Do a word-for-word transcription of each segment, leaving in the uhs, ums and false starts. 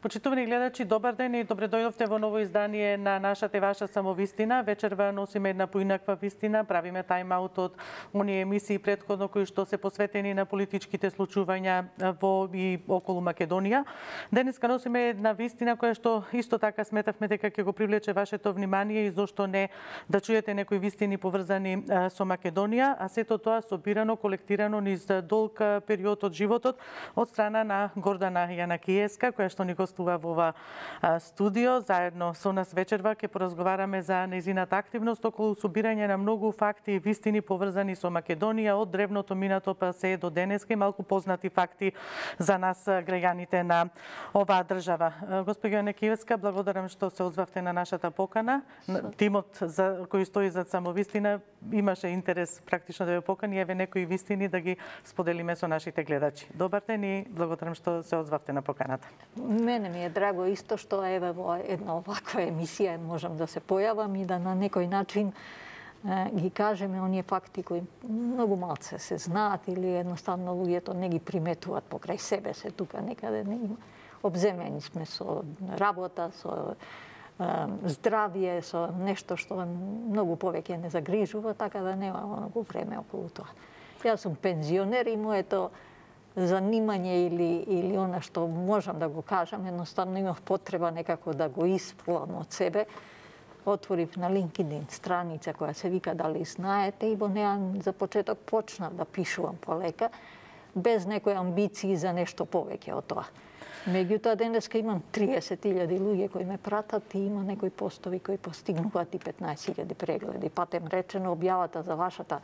Почитувани гледачи, добар ден и добре дојдовте во ново издание на нашата и ваша самовистина. Вечерва носиме една поинаква вистина, правиме тајм-аут од оние емисии претходно кои што се посветени на политичките случувања во и околу Македонија. Денеска носиме една вистина која што исто така сметавме дека ќе го привлече вашето внимание и зошто не да чуете некои вистини поврзани со Македонија, а сето тоа собирано, колектирано низ долг период од животот од страна на Гордана Јанакиевска, која што ни гостува во ова студио. Заедно со нас вечерва ќе поразговараме за нејзината активност околу собирање на многу факти и вистини поврзани со Македонија од древното минато па се до денеска и малку познати факти за нас граѓаните на оваа држава. Госпоѓо Јанакиевска, благодарам што се озвавте на нашата покана. Тимот за кој стои зад самовистина имаше интерес практично да ве покани, еве некои вистини да ги споделиме со нашите гледачи. Добар ден и благодарам што се озвавте на поканата. Мене ми е драго исто што еве во една оваква емисија можам да се појавам и да на некој начин е, ги кажеме оние факти кои многу малце се знаат или едноставно луѓето не ги приметуваат покрај себе се тука некаде не има. Обземени сме со работа, со е, здравје, со нешто што многу повеќе не загрижува, така да нема многу време околу тоа. Јас сум пензионер и моето занимање или или она што можам да го кажам, едноставно имав потреба некако да го исплам од себе. Отворив на LinkedIn страница која се вика Дали знаете и во неа за почеток почнав да пишувам полека без некои амбиции за нешто повеќе од тоа. Меѓутоа денеска имам триесет илјади луѓе кои ме пратат и има некои постови кои постигнуваат и петнаесет илјади прегледи. Патем речено, објавата за вашата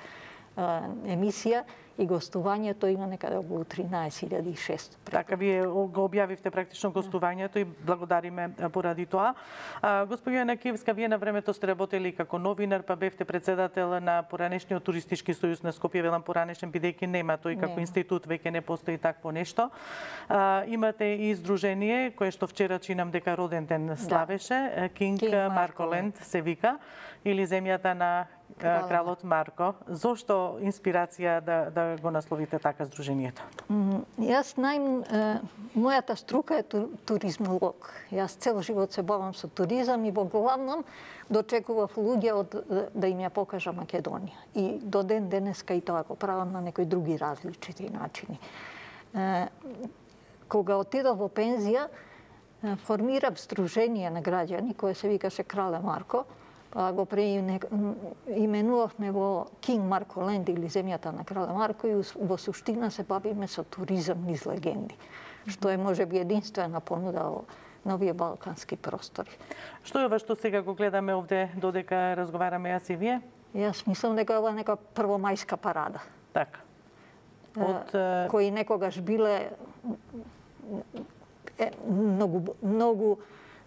емисија и гостувањето има некаде околу тринаесет илјади и шест. Така, вие го објавивте практично гостувањето и благодариме поради тоа. Госпоѓо Јанакиевска, вие на времето сте работели како новинар, па бевте председател на поранешниот туристички сојуз на Скопје, велам поранешен, бидејќи нема тој како институт, веќе не постои такво нешто. Имате и издружение кое што вчера чинам дека роден ден славеше, Кинг Марко-ленд се вика, или земјата на кралот Марко. Зошто инспирација да да го насловите така здружението? Јас најм мојата струка е туризмолог. Јас цел живот се бавам со туризам и во главном дочекував луѓе од да им ја покажа Македонија. И до ден денеска и тоа го правам на некои други различити начини. Кога отидов во пензија, формирав здружение на граѓани кое се викаше Крале Марко. Го преименувавме во Кинг Марко-ленд или земјата на Крале Марко и во суштина се бавиме со туризам низ легенди, што е можеби единствена понуда на овие балкански простори. Што е ова што сега го гледаме овде додека разговараме јас и вие? Јас мислам дека ова е нека првомајска парада. Така. Од кои некогаш биле е, многу многу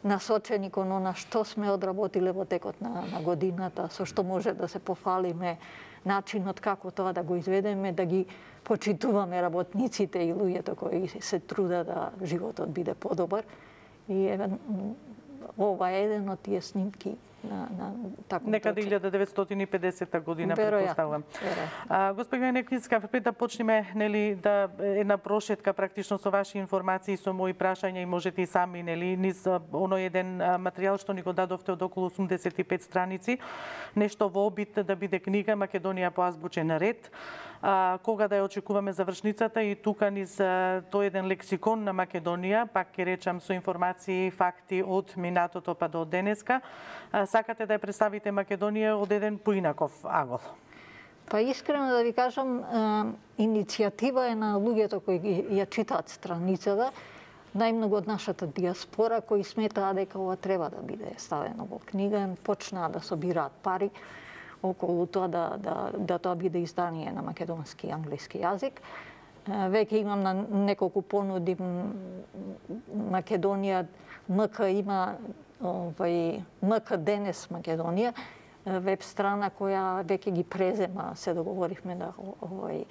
насочени кон она што сме одработиле во текот на, на годината, со што може да се пофалиме, начинот како тоа да го изведеме, да ги почитуваме работниците и луѓето кои се трудат да животот биде подобар. И еве ова е еден од тие снимки на на такво некаде илјада деветстотини и педесета година претпоставувам. Госпоѓо Јанакиевска, пред да почнеме нели да една прошетка практично со ваши информации, со мои прашања и можете и сами нели низ оној еден материјал што ни го дадовте од околу осумдесет и пет страници, нешто во обид да биде книга Македонија по азбучен ред. А, кога да ја очекуваме завршницата и тука низ тој еден лексикон на Македонија, пак ќе речам со информации, факти од минатото па до денеска, а, сакате да ја представите Македонија од еден поинаков агол. Па искрено да ви кажам, иницијатива е на луѓето кои ја читаат страницата, најмногу од нашата диаспора кои сметаа дека ова треба да биде ставено во книга, почнаа да собираат пари околу тоа да, да, да тоа биде издание на македонски и англиски јазик. Веќе имам на неколку понуди. Македонија, МК има овај МК Денес Македонија, веб страна која веќе ги презема, се договоривме да овај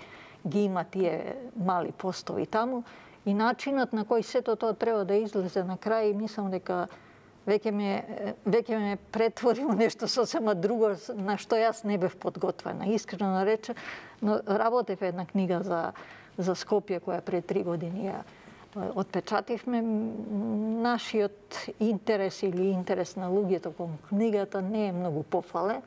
ги има тие мали постови таму и начинот на кој сето тоа треба да излезе на крај, мислам дека веќе ме, веќе ме претвори во нешто сосема друго на што јас не бев подготвена. Искрено рече, но работев една книга за, за Скопје која пред три години ја отпечативме, нашиот интерес или интерес на луѓето кон книгата не е многу пофален.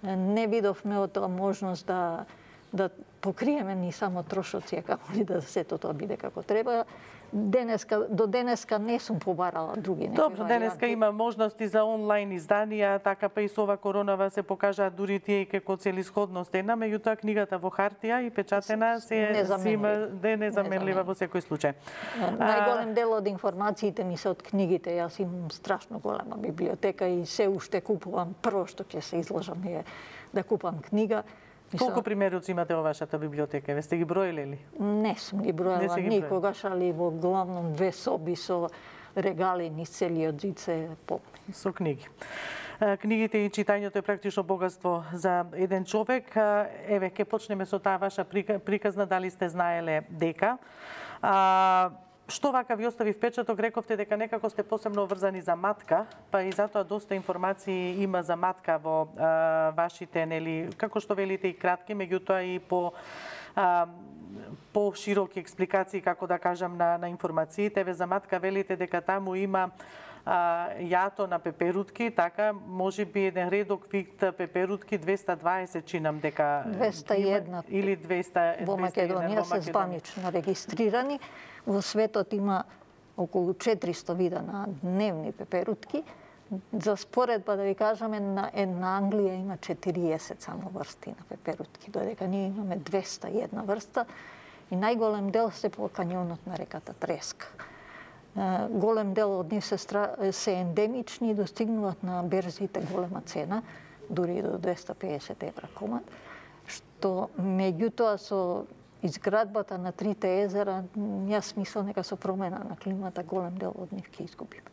Не видовме од тоа можност да да покриеме ни само трошоци, како ли да сето тоа биде како треба. Денеска, до денеска не сум побарала други некои Добро, денеска има можности за онлайн изданија, така па и со ова коронава се покажаат дури тие и како целисходност една, меѓутоа книгата во хартија и печатена се зима де незаменлива во секој случај. Најголем дел од информациите ми се од книгите. Јас имам страшно голема библиотека и се уште купувам. Прво што ќе се изложам е да купам книга. Колку примероци имате во вашата библиотека? Ве сте ги броиле ли? Не сум ги броила никогаш, али во главном две соби со регали низ целиот зид се полни. Со книги. Книгите и читањето е практично богатство за еден човек. Еве, ќе почнеме со таа ваша приказна, дали сте знаеле дека а, што вака ви остави впечаток, рековте дека некако сте посебно врзани за матка, па и затоа доста информации има за матка во а, вашите, нели, како што велите и кратки, меѓутоа и по а, по широки експликации, како да кажам, на, на информациите. Ве за матка велите дека таму има а, јато на пеперутки, така, може би еден редок вид пеперутки, двеста дваесет чинам дека... двеста и една. Или двеста, во Македонија се званично регистрирани. Во светот има околу четиристо вида на дневни пеперутки. За споредба да ви кажеме, на една Англија има четириесет само врсти на пеперутки, додека ние имаме двеста и една врста и најголем дел се по кањонот на реката Треска. Голем дел од нив се, стра... се ендемични и достигнуваат на берзите голема цена, дури до двеста педесет евра комат, што меѓутоа со изградбата на трите езера, јас мислам дека со промена на климата голем дел од нив ќе изгубиме.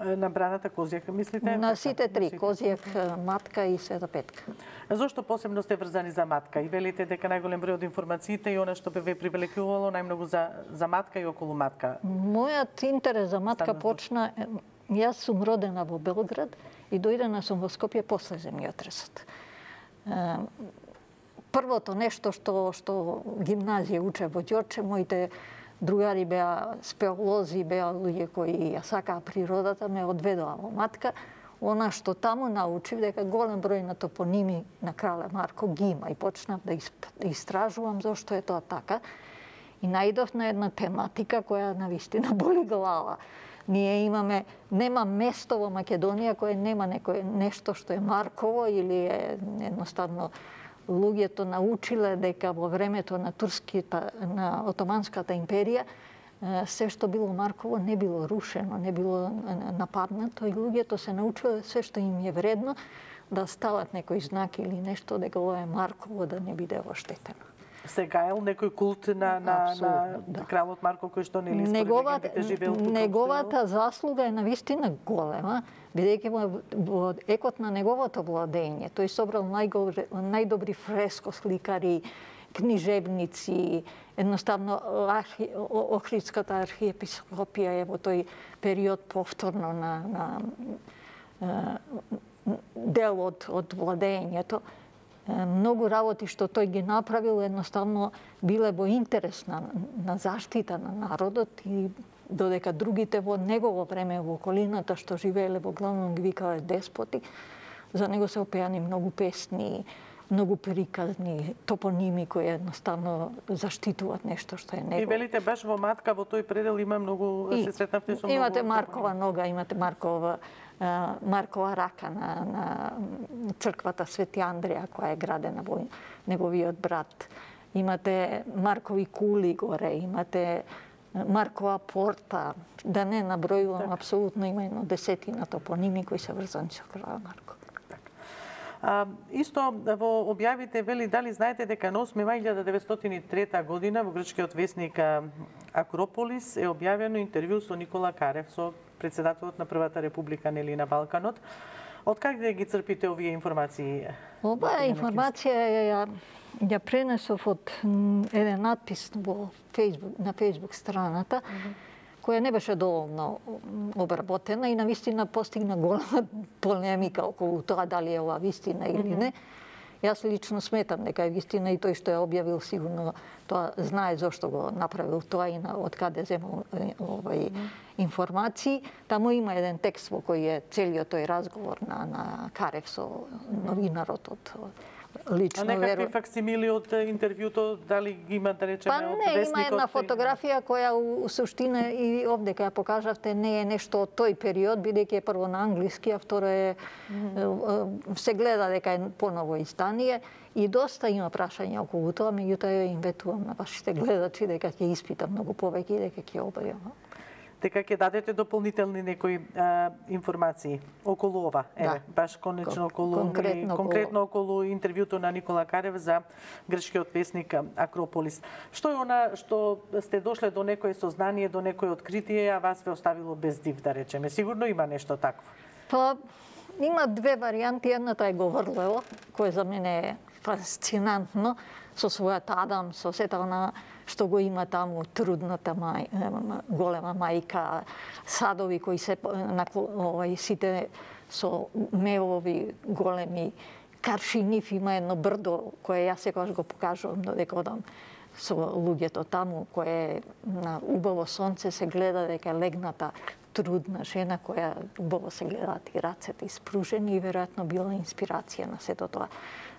На браната Козјак, мислите? На сите три, Козјак, Матка и Света Петка. Зошто посебно сте врзани за Матка? И велите дека најголем број од информациите и она што бе ве привлекувало најмногу за, за Матка и околу Матка? Мојот интерес за Матка почна... Јас сум родена во Белград и дојдена сум во Скопје после земјотресот. Првото нешто што, што гимназија уче во Ѓорче, моите другари беа спелози, беа луѓе кои ја сакаа природата, ме одведоа во Матка. Она што таму научив дека голем број на топоними на Крале Марко ги има и почнав да истражувам зошто е тоа така. И најдов на една тематика која навистина боли глава. Ние имаме, нема место во Македонија кое нема некој нешто што е Марково или е едноставно луѓето научиле дека во времето на турската, на Отоманската империја, се што било Марково не било рушено, не било нападнато и луѓето се научиле се што им е вредно да стават некој знак или нешто дека ова е Марково да не биде оштетено. Се гаел некој култ на, на, на да. Кралот Марко кој што нели според легендите живеел тука? Неговата заслуга е навистина голема, бидејќи во, во екот на неговото владење тој собрал најгобри, најдобри фрескосликари, книжевници, едноставно архи, Охридската архиепископија е во тој период повторно на, на дел од, од владењето. Многу работи што тој ги направил едноставно биле во интерес на, на заштита на народот и додека другите во негово време во околината што живееле во главном ги викале деспоти, за него се опеани многу песни, многу приказни, топоними кои едноставно заштитуваат нешто што е негово. И велите баш во Матка во тој предел има многу, и, се сретнавте со многу... Имате Маркова нога, имате Маркова Маркова рака на, на црквата Свети Андреја, која е градена во неговиот брат. Имате Маркови кули горе, имате Маркова порта, да не набројувам, так. Апсолутно има едно десетина топоними кои се врзани со крал Марко. А, исто во објавите вели дали знаете дека на осми мај илјада деветстотини и трета година во грчкиот весник Акрополис е објавено интервју со Никола Карев, со председателот на Првата република нели на Балканот. Од каде ги црпите овие информации? Оваа информација ја, ја пренесов од еден надпис во Facebook, на Facebook страната, mm -hmm. која не беше доволно обработена и навистина постигна голема полемика околу тоа дали е ова вистина или не. Јас лично сметам дека е вистина и тој што ја објавил сигурно тоа знае зошто го направил тоа и на од каде земал овај информации. Таму има еден текст во кој е целиот тој разговор на на Карев со новинарот од лично верувам. А некакви веру... факсимили од интервјуто, дали ги има, да речеме, па, од не, вестникот? Има една фотографија која у суштина и овде кај ја покажавте не е нешто од тој период, бидејќи е прво на англиски, а второ е mm -hmm. се гледа дека е поново издание и доста има прашања околу тоа, меѓутоа ја им ветувам на вашите гледачи дека ќе испитам многу повеќе и дека ќе обавам. Дека ќе дадете дополнителни некои а, информации околу ова, еве, да. баш конечно околу конкретно, конкретно околу интервјуто на Никола Карев за грчкиот весник Акрополис. Што е она што сте дошле до некое сознание, до некое откритие, а вас ве оставило без див, да речеме? Сигурно има нешто такво. Па има две варијанти, едната е Говорлево, кој за мене е фасцинантно, со својата Адам, со сета она што го има таму, трудната мај, голема мајка, садови кои се на овај сите со мевови големи, Каршинив има едно брдо кое јас секогаш го покажувам додека одам со луѓето таму, кое на убаво сонце се гледа дека легната трудна жена која убаво се гледаат и рацете испружени и веројатно била инспирација на сето тоа.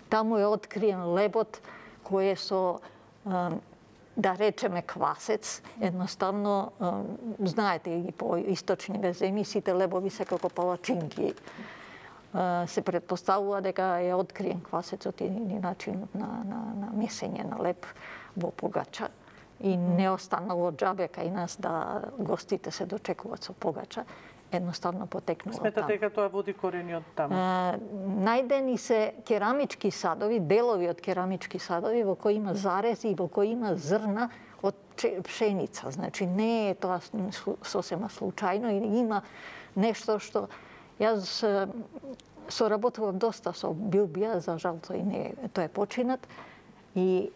Таму е откриен лебот кој е со да речеме квасец, едноставно знаете и по источниве земји сите лебови се како палачинки. Се претпоставува дека е откриен квасецот и начинот на, на, на месење на леб во погача. И не останало џабе кај нас да гостите се дочекуваат со погача. Едноставно потекнува таму. Сметате дека тоа води корени од таму? А, најдени се керамички садови, делови од керамички садови во кои има зарези и во кои има зрна од пшеница. Значи не е тоа сосема случајно и има нешто што јас соработував доста со Билбија, за жал тој не тој е починат. И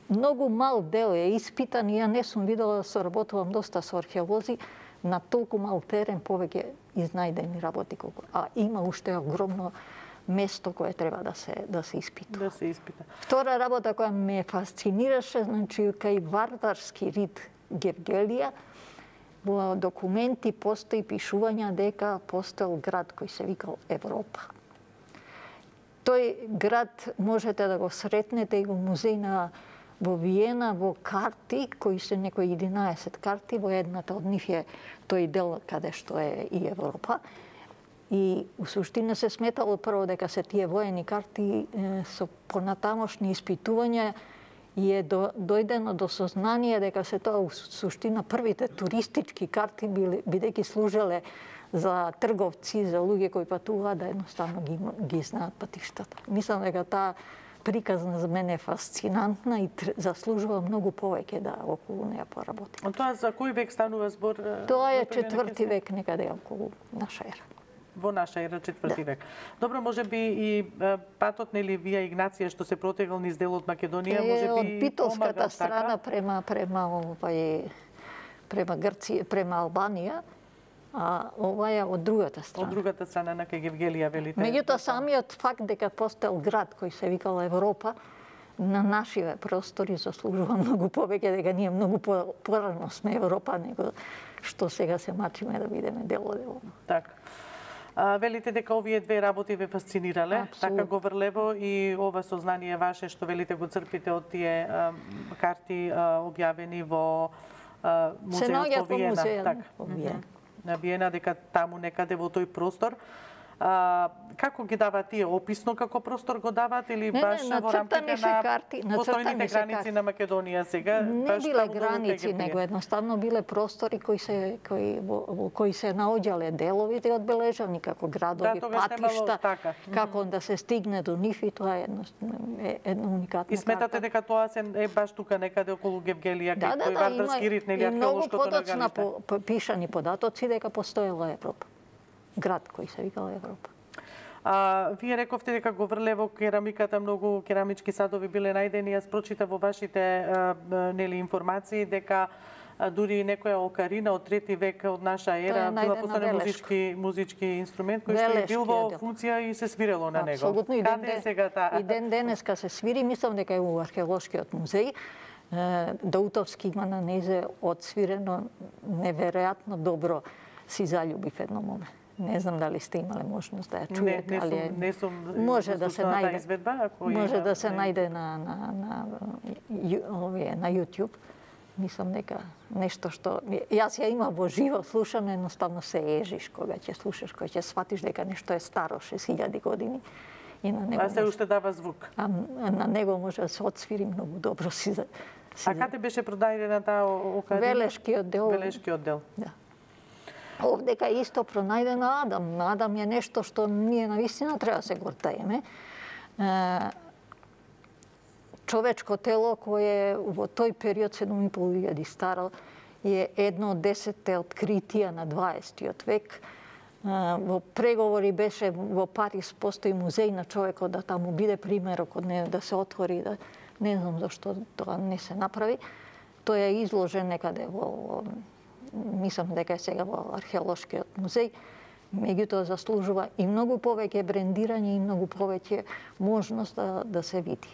многу мал дел е испитан и ја не сум видела, соработувам доста со археолози, на толку мал терен повеќе изнајдени работи колку. А има уште огромно место кое треба да се да се испита. Да се испита. Втора работа која ме фасцинираше, значи кај вардарски рид Гевгелија, во документи постои пишувања дека постоел град кој се викал Европа. Тој град можете да го сретнете и во музеј на во Виена, во карти, кои се некои единаесет карти, во едната од нив е тој дел каде што е и Европа. И у суштина се сметало прво дека се тие воени карти е, со понатамошни испитувања и е до, дојдено до сознание дека се тоа у суштина првите туристички карти бидејќи служеле за трговци, за луѓе кои патуваат да едноставно ги, ги знаат патиштата. Мислам дека таа приказна за мене е фасцинантна и заслужува многу повеќе да околу неја поработи. А тоа за кој век станува збор? Тоа е четврти век некаде околу наша ера. Во наша ера четврти да. век. Добро, можеби и патот нели вија Игнација што се протегал низ делот Македонија, можеби од битолската помагал, страна така? према према овај према Грција, према Албанија, а ова е од другата страна. Од другата страна на кај Гевгелија, велите. Меѓутоа самиот факт дека постоел град кој се викал Европа на нашиве простори заслужува многу повеќе, дека ние многу порано сме Европа него што сега се мачиме да бидеме дел од Европа. Така. А, велите дека овие две работи ве фасцинирале, Абсолютно. така Говорлево и ова сознание ваше што велите го црпите од тие а, карти а, објавени во а, музеот во Виена. Така. Во Виена. На Виена, дека таму некаде во тој простор. А, како ги даваат тие? Описно како простор го даваат или не, баш не, во рамките на карти, постојните граници карти. на Македонија сега? Не баш биле таму граници, него едноставно биле простори кои се кои во, во кои се наоѓале деловите одбележани како градови, да, патишта, така. како да се стигне до нив и тоа е едно, е едно уникатно. И сметате дека тоа се е баш тука некаде околу Гевгелија, да, кај да, тој да, вардарски рит, нели археолошкото нагалиште? Многу нагалиште? по, пишани податоци дека постоела Европа. Град кој се викал Европа. А, вие рековте дека Говорлево керамиката, многу керамички садови биле најдени. Јас прочитав во вашите а, нели информации дека дури некоја окарина од трети век од наша ера била постане музички музички инструмент кој што е бил во функција и се свирело на него. Апсолутно. Каде е сега таа? И ден денеска се свири, мислам дека е у археолошкиот музеј. Даутовски има на незе одсвирено неверојатно добро. Си заљубив едно моме. Не знам дали сте имале можност да ја чуете, не, не али сум, не сум може да се најде изведба, ако може има, да се не. најде на на на овие на YouTube. Мислам дека нешто што јас ја имам во живо слушано, едноставно се ежиш кога ќе слушаш, кога ќе сватиш дека нешто е старо шест илјади години. И на него а се уште дава звук. А на него може да се отсвири многу добро си за. А каде беше пронајдена таа окарина? Велешкиот дел. Велешкиот дел. Да. Овдека исто пронајдена Адам. Адам е нешто што ние навистина треба да се гордееме. Човечко тело кое во тој период седум и пол илјади старо е едно од десетте откритија на дваесеттиот век. Во преговори беше во Париз постои музеј на човекот да таму биде примерок од него да се отвори, да не знам зашто тоа не се направи. Тој е изложен некаде во мислам дека е сега во археолошкиот музеј. Меѓутоа заслужува и многу повеќе брендирање и многу повеќе можност да, да се види.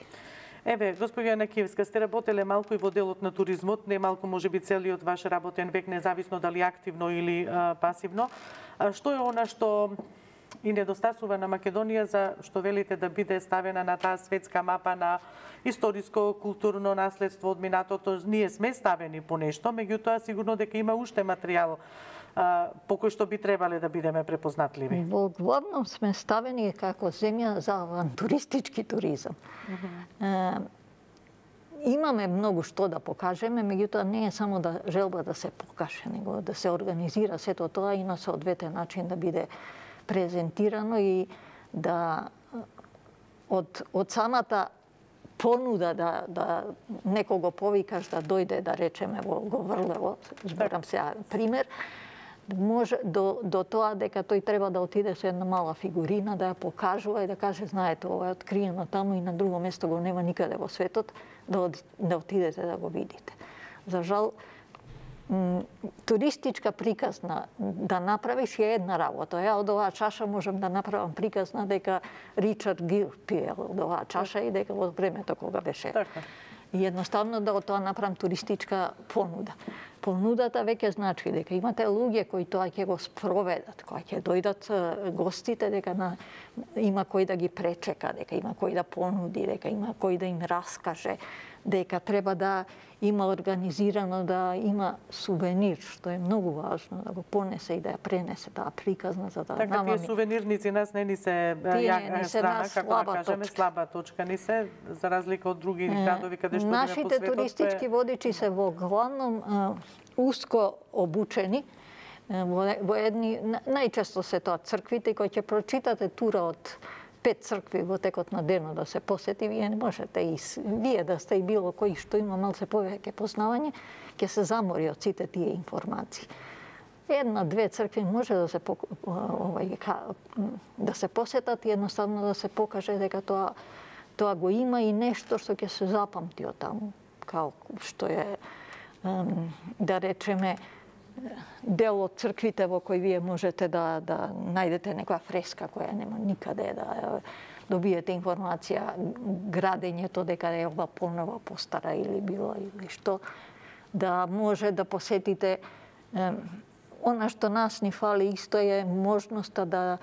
Еве, госпоѓа Јанакиевска, сте работеле малку и во делот на туризмот, не малку можеби целиот ваш работен век, независно дали активно или а, пасивно. А, што е она што и недостасува на Македонија за што велите да биде ставена на таа светска мапа на историско културно наследство од минатото? Ние сме ставени по нешто, меѓутоа сигурно дека има уште материјал а, по кој што би требале да бидеме препознатливи. Во главном сме ставени како земја за авантуристички туризам. Uh-huh. Е, имаме многу што да покажеме, меѓутоа не е само да желба да се покаже, него да се организира сето тоа и на соодветен начин да биде презентирано и да од од самата понуда да да некого повикаш да дојде да речеме во Говрлево, зборам сега пример, може до до тоа дека тој треба да отиде со една мала фигурина да ја покажува и да каже знаете ова е откриено таму и на друго место го нема никаде во светот, да да отидете да го видите. За жал туристичка приказна да направиш е една работа. Ја од оваа чаша можам да направам приказна дека Ричард Гир пиел од оваа чаша и дека во времето кога беше. Така. И едноставно да од тоа направам туристичка понуда. Понудата веќе значи дека имате луѓе кои тоа ќе го спроведат, кои ќе дојдат гостите, дека на, има кој да ги пречека, дека има кој да понуди, дека има кој да им раскаже, дека треба да има организирано, да има сувенир, што е многу важно, да го понесе и да ја пренесе таа приказна, за да така, намами. Тие сувенирници нас не ни се јака страна, како да кажеме, слаба точка ни се, за разлика од други градови каде што нашите по светот, туристички водичи се во главном а, уско обучени, во, во едни, најчесто се тоа црквите, кои ќе прочитате тура од пет цркви во текот на денот да се посети, вие не можете и вие да сте и било кој што има малце повеќе познавање, ќе се замори од сите тие информации. Една, две цркви може да се овај да се посетат и едноставно да се покаже дека тоа тоа го има и нешто што ќе се запамти од таму, као што е да речеме дел од црквите во кои вие можете да да најдете некоја фреска која нема никаде, да добиете информација градењето дека е ова понова постара или било или што, да може да посетите е, она што нас ни фали исто е можноста да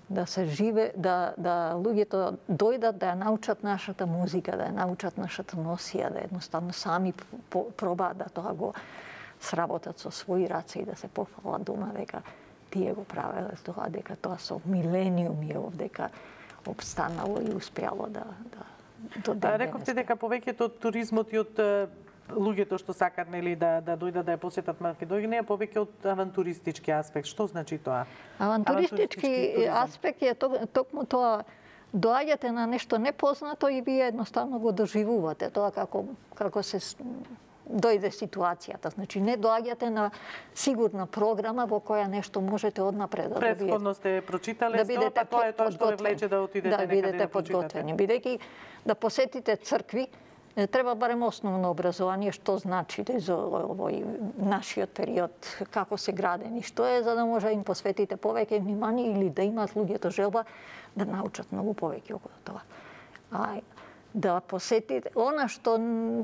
да се живе, да да луѓето дојдат да ја научат нашата музика, да ја научат нашата носија, да едноставно сами пробаат да тоа го сработат со своји раце и да се пофалат дома дека тие го правеле тоа, дека тоа со милениуми е овдека обстанало и успеало да да до ден. Рековте дека повеќето од туризмот и од луѓето што сакат нели да да дојдат да ја посетат Македонија повеќе од авантуристички аспект. Што значи тоа? Авантуристички аспект е токму тоа, доаѓате на нешто непознато и вие едноставно го доживувате тоа како како се дојде ситуацијата. Значи не доаѓате на сигурна програма во која нешто можете однапред да добиете. Предходно сте прочитале, да бидете тоа е тоа што ве влече да отидете да некаде бидете да прочитате. Бидејќи да посетите цркви, треба барем основно образование, што значи за овој нашиот период, како се градени, што е, за да може да им посветите повеќе внимание или да имаат луѓето желба да научат многу повеќе околу тоа. А да посетите она што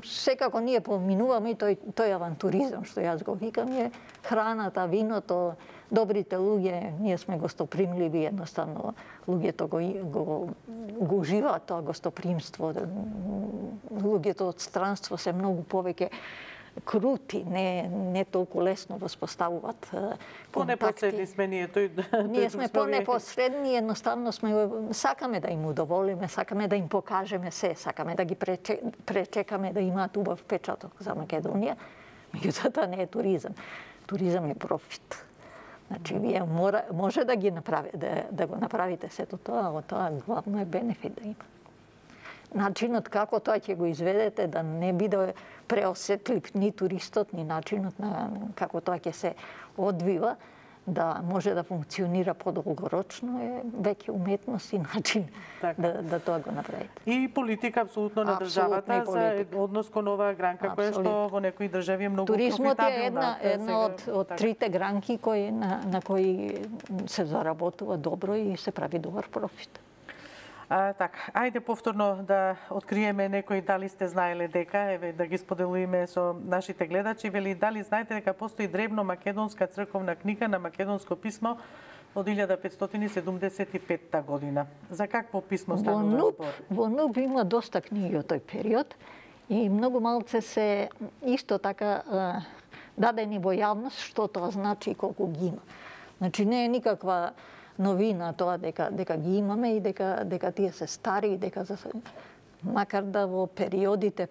секако ние поминуваме и тој тој авантуризам што јас го викам е храната, виното, добрите луѓе, ние сме гостопримливи, едноставно луѓето го го, го уживаат тоа гостопримство. Луѓето од странство се многу повеќе крути, не не толку лесно воспоставуваат контакти. Понепосредни сме ние, тој ние сме понепосредни, едноставно сме сакаме да им удоволиме, сакаме да им покажеме се, сакаме да ги пречекаме да имаат убав печаток за Македонија. Меѓутоа тоа не е туризам. Туризам е профит. Значи, вие мора, може да ги направи, да, да го направите сето тоа, а тоа главно е бенефит да има. Начинот како тоа ќе го изведете, да не биде преосетлив ни туристот, ни начинот на како тоа ќе се одвива, да може да функционира подолгорочно е веќе уметност и начин така. да, да тоа го направите. И политика апсолутно на државата за однос кон оваа гранка, која што во некои држави е многу профитабилна. Туризмот е една, една од, од така. трите гранки кои, на, на кои се заработува добро и се прави добар профит. А, така, ајде повторно да откриеме некои дали сте знаеле дека, еве да ги споделиме со нашите гледачи, вели дали знаете дека постои древно македонска црковна книга на македонско писмо од илјада петстотини седумдесет и петта година. За какво писмо станува збор? Во НУП има доста книги од тој период и многу малце се исто така дадени во јавност што тоа значи и колку ги има. Значи не е никаква новина тоа дека дека ги имаме и дека дека тие се стари и дека за макар да во периодите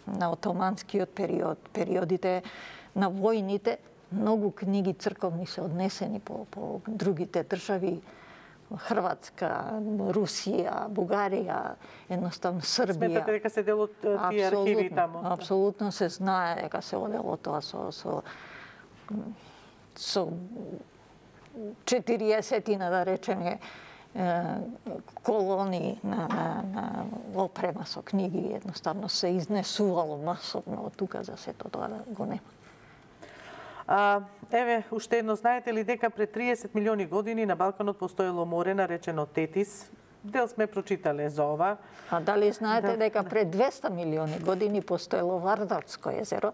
на отоманскиот период, периодите на војните, многу книги црковни се однесени по по другите држави, Хрватска, Русија, Бугарија, едноставно Србија. Сметате дека се дел од тие архиви таму? Апсолутно се знае дека се одело тоа со со со четириесетина, да речеме, колони на, на, на опрема со книги, едноставно се изнесувало масовно од тука за сето тоа да го нема. А, еве, уште едно, знаете ли дека пред триесет милиони години на Балканот постоело море наречено Тетис? Дел сме прочитале за ова. А дали знаете да, дека пред двеста милиони години постоело Вардарско езеро,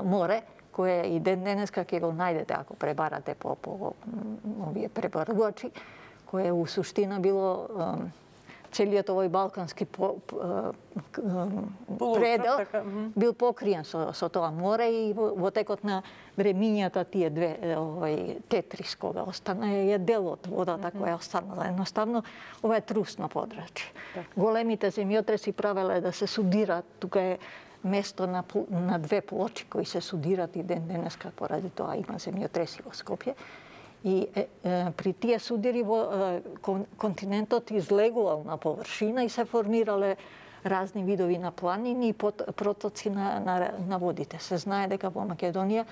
море, кое и ден денеска ќе го најдете ако пребарате по, по овие пребарувачи, кое у суштина било целиот овој балкански по, предел бил покриен со, со тоа море и во, во текот на времињата тие две овој Тетрис кога остана е дел од водата која останала. Едноставно ова е трусно подрачје. Големите земјотреси правеле да се судираат, тука е место на, на две плочи кои се судират и ден денеска поради тоа има земјотреси во Скопје. И е, е, при тие судири во е, кон, континентот излегувал на површина и се формирале разни видови на планини и пот, протоци на, на, на водите. Се знае дека во Македонија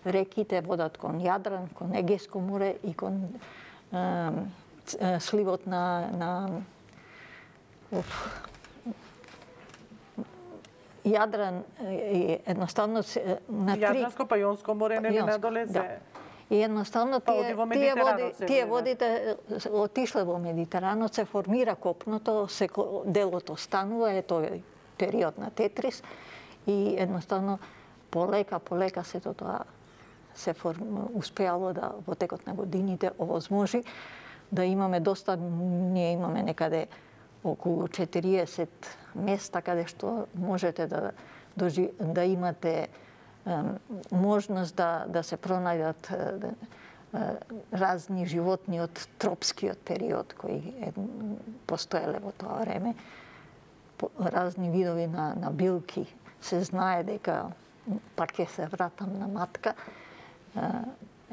реките водат кон Јадран, кон Егејско море и кон е, е, сливот на, на оф, Јадран и едноставно на три... Јадранско па Јонско море не надоле се... Да. И едноставно тие, тие, води, тие водите отишле во Медитеранот, се формира копното, се делот останува, е тој период на Тетрис и едноставно полека, полека сето тоа се форм... успеало да во текот на годините овозможи да имаме доста, ние имаме некаде околу четириесет места каде што можете да, дожи, да имате можност да, да се пронајдат разни животни од тропскиот период кои е, постоеле во тоа време, разни видови на, на билки. Се знае дека, пак ќе се вратам на матка,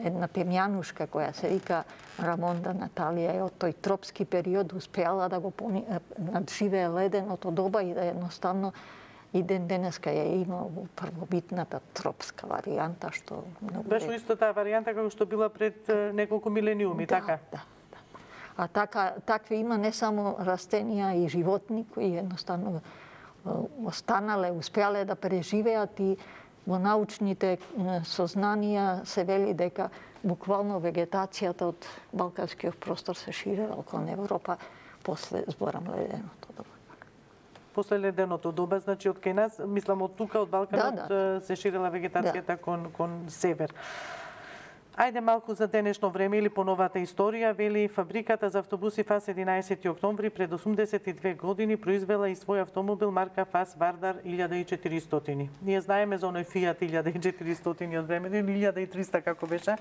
една темјанушка која се вика Рамонда Наталија е од тој тропски период успеала да го надживее леденото доба и да едноставно и ден денеска ја има во првобитната тропска варијанта, што многу... Беше исто таа варијанта како што била пред неколку милениуми, да, така? Да, да. А така, такви има не само растенија и животни кои едноставно останале, успеале да преживеат и во научните сознанија се вели дека буквално вегетацијата од балканскиот простор се ширела кон Европа после, зборам, леденото доба. После леденото доба, значи од кај нас, мислам од тука, од Балканот, да, да. се ширела вегетацијата да. кон, кон север. Ајде малку за денешно време или по новата историја, вели фабриката за автобуси ФАС единаесети октомври пред осумдесет и две години произвела и свој автомобил марка ФАС Вардар илјада и четиристотини. Ние знаеме за оној Фијат илјада и четиристотини од време, или илјада и триста како беше,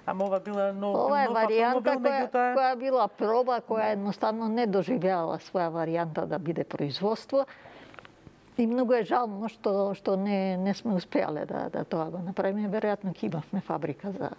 ама ова била нов, ова е нов варијанта автомобил, која, меѓутоа... која била проба, која едноставно не доживеала своја варијанта да биде производство. И многу е жално што што не не сме успеале да да тоа го направиме. Веројатно ќе имавме фабрика за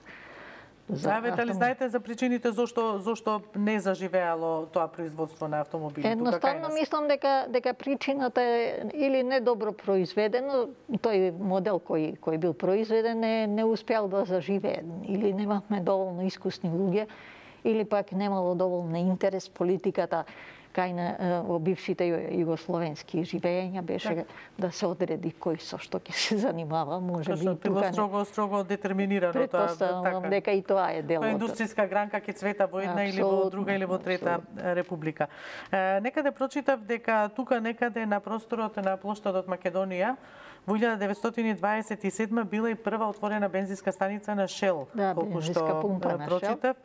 за Знаете ли знаете за причините зошто зошто не заживеало тоа производство на автомобили? Едноставно мислам дека дека причината е или недобро произведено, тој модел кој кој бил произведен не не успеал да заживее, или немавме доволно искусни луѓе, или пак немало доволно интерес политиката кај на во бившите југословенски живења беше так. Да се одреди кој со што ќе се занимава, може би и тука строго строго детерминирано тоа, така. Дека и тоа е дел од индустријска гранка ќе цвета во една абсолютно, или во друга или во трета абсолютно. Република. Е, некаде прочитав дека тука некаде на просторот на плоштадот Македонија во илјада деветстотини дваесет и седма била и прва отворена бензинска станица на Shell, да, колку што прочитав.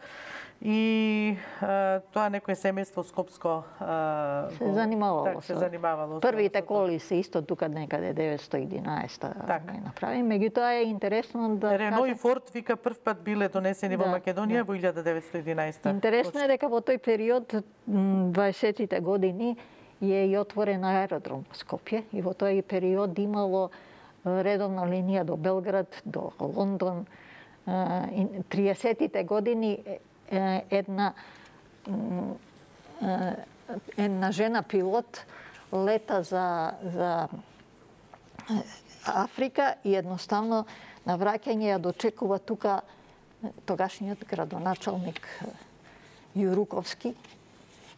И а, тоа некое семејство скопско а, се занимавало. Так, се занимавало. Првите коли се исто тука некаде деветстотини и единаесета так. направи. Меѓутоа е интересно да Рено и Форд вика прв пат биле донесени да, во Македонија да. Во илјада деветстотини и единаесета. Интересно е дека во тој период дваесетите години е и отворен аеродром во Скопје и во тој период имало редовна линија до Белград, до Лондон. триесеттите години една една жена пилот лета за за Африка и едноставно на враќање ја дочекува тука тогашниот градоначалник Јуруковски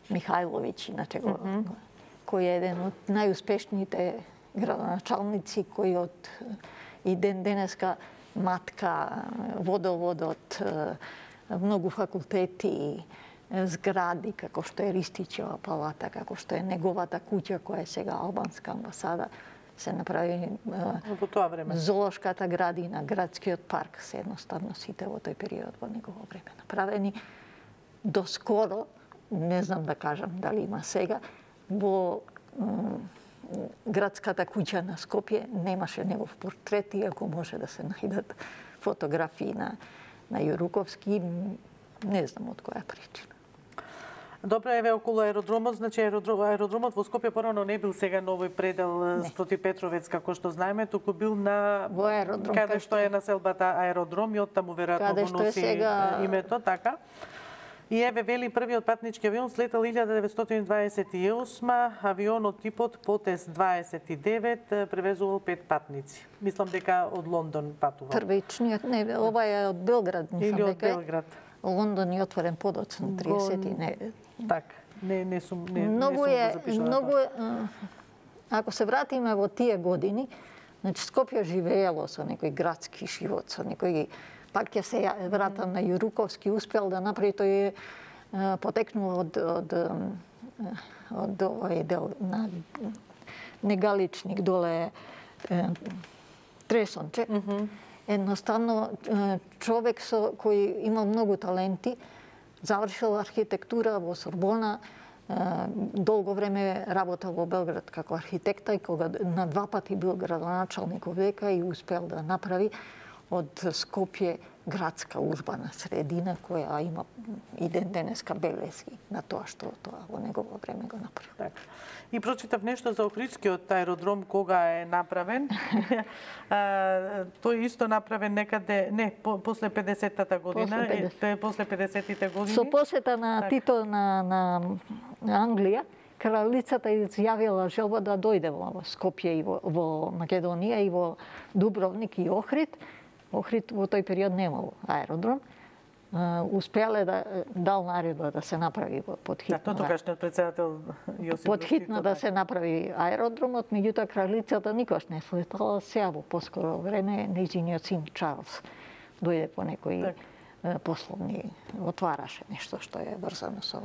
Михајловиќ, иначе го, mm -hmm. кој е еден од најуспешните градоначалници кој од и ден денеска матка водоводот, многу факултети, згради, како што е Ристичева палата, како што е неговата куќа, која е сега албанска амбасада, се направи во тоа време. Зоолошката градина, градскиот парк, се едноставно сите во тој период во негово време направени. Доскоро, не знам да кажам дали има сега, во градската куќа на Скопје немаше негов портрет, иако може да се најдат фотографии на на Јуруковски, не знам од која причина. Добро, еве околу аеродромот, значи аеродромот во Скопје порано не бил сега на овој предел не. Спроти Петровец, како што знаеме, туку бил на во аеродром, каде што е населбата аеродром и оттаму веројатно го носи сега... името, така. И еве вели првиот патнички авион слетал илјада деветстотини дваесет и осма, авионот типот Потес дваесет и девет превезувал пет патници. Мислам дека од Лондон патувал. Првичниот, не, ова е од Белград, мислам или од дека. Белград. Лондон е отворен подоцна триесет и не. Так, не не сум не многу не е, сум многу е, ако се вратиме во тие години, значи Скопје живеело со некој градски живот, со некој пак ќе се вратам на Јуруковски, успел да направи, тој е потекнул од од од овој дел на Негаличник доле Тресонче. Mm -hmm. Едноставно човек со кој имал многу таленти, завршил архитектура во Сорбона, долго време работел во Белград како архитекта и кога на два пати бил градоначалник века и успел да направи од Скопје градска урбана средина која има и ден денеска белески на тоа што тоа во негово време го направи. Так. И прочитав нешто за Охридскиот аеродром кога е направен. Тој исто направен некаде, не, по, после педесеттата година, после, педесет. после педесеттите години. Со посета на так. Тито на, на, на Англија, кралицата изјавила желба да дојде во Скопје и во, во Македонија и во Дубровник и Охрид. Охрид во тој период немало аеродром. успеале да дал наредба да се направи подхитно. Да, тоа тогашниот председател Јосип Подхитно да се направи аеродромот, меѓутоа кралицата никош не слетала, сега во поскоро време нејзиниот син Чарлс дојде по некои так. Пословни, отвараше нешто што е врзано со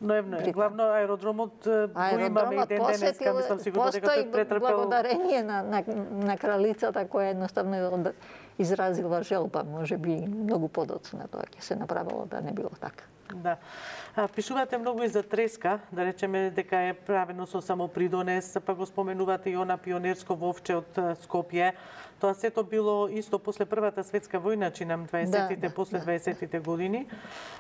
Но е главно аеродромот го имаме и ден денеска, мислам сигурно дека тој претрпел благодарение на, на, на кралицата која едноставно изразила желба, може би многу подоцна тоа ќе се направило да не било така. Да. А, пишувате многу и за треска, да речеме дека е правено со самопридонес, па го споменувате и она пионерско вовче од Скопје. Тоа сето било исто после Првата светска војна, чинам дваесеттите, да, да, после дваесеттите години.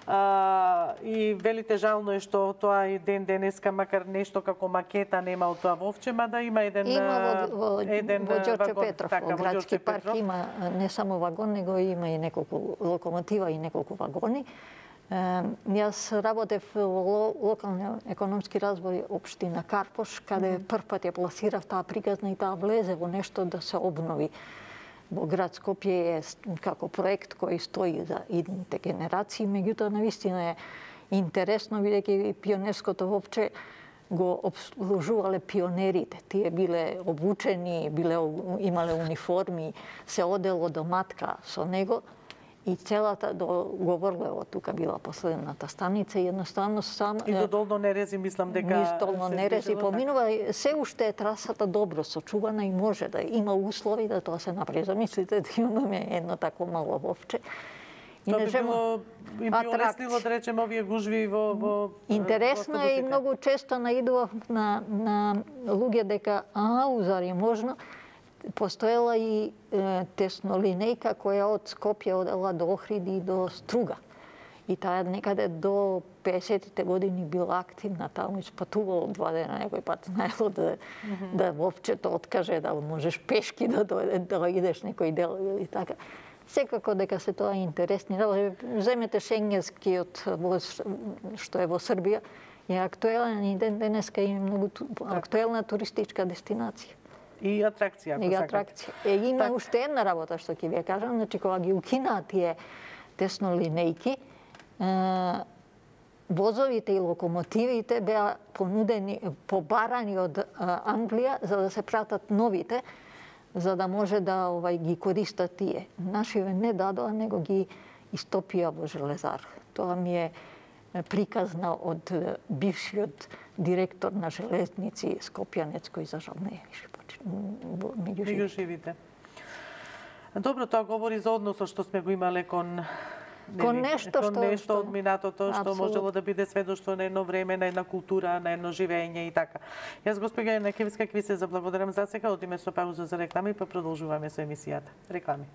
А, и велите жално е што тоа и ден денеска, макар нешто како макета нема од тоа вовче, мада има еден има во, во, еден во Ѓорче вагон, Петров, така, во градски парк Петров. Има не само вагон, него има и неколку локомотива и неколку вагони. Јас работев во локални економски развој општина Карпош, каде mm -hmm. прв пат ја пласирав таа приказна и таа влезе во нешто да се обнови. Во град Скопје е како проект кој стои за идните генерации, меѓутоа навистина е интересно, бидејќи пионерското вопче го обслужувале пионерите. Тие биле обучени, биле имале униформи, се одело до матка со него. И целата до Говорлево тука била последната станица и едноставно сам и до Долно Нерези мислам дека низ Долно Нерези поминува, се уште е трасата добро сочувана и може да има услови да тоа се направи. Замислите да имаме едно тако мало вовче. И не било и би олеснило да речеме овие гужви во во интересно е и многу често наидував на на луѓе дека ау зари можно. Постоела и е, теснолинејка која од Скопје одела до Охриди и до Струга. И таа некаде до песетите години била активна таму и спатувала два дена некој пат, знаело да, mm -hmm. да вовчето откаже да можеш пешки да дојде, да идеш некој дел и така. Секако дека се тоа интересни. Земете шенгенскиот што е во Србија, е актуелен и ден денеска има многу актуелна туристичка дестинација. И атракција, ако и атракција. Е, има так. Уште една работа што ќе ви кажам, значи кога ги укинаа тие теснолинејки, е, возовите и локомотивите беа понудени, побарани од е, Англија за да се пратат новите, за да може да овај ги користат тие. Нашиве не дадоа, него ги истопија во железар. Тоа ми е приказна од бившиот директор на железници Скопјанец, кој за жал не е више меѓу живите. Добро, тоа говори за односот што сме го имале кон кон нешто кон што нешто од минатото што можело да биде сведоштво на едно време, на една култура, на едно живење и така. Јас госпоѓа Јанакевска ќе ви се заблагодарам за сега, одиме со пауза за реклами, па продолжуваме со емисијата. Реклами.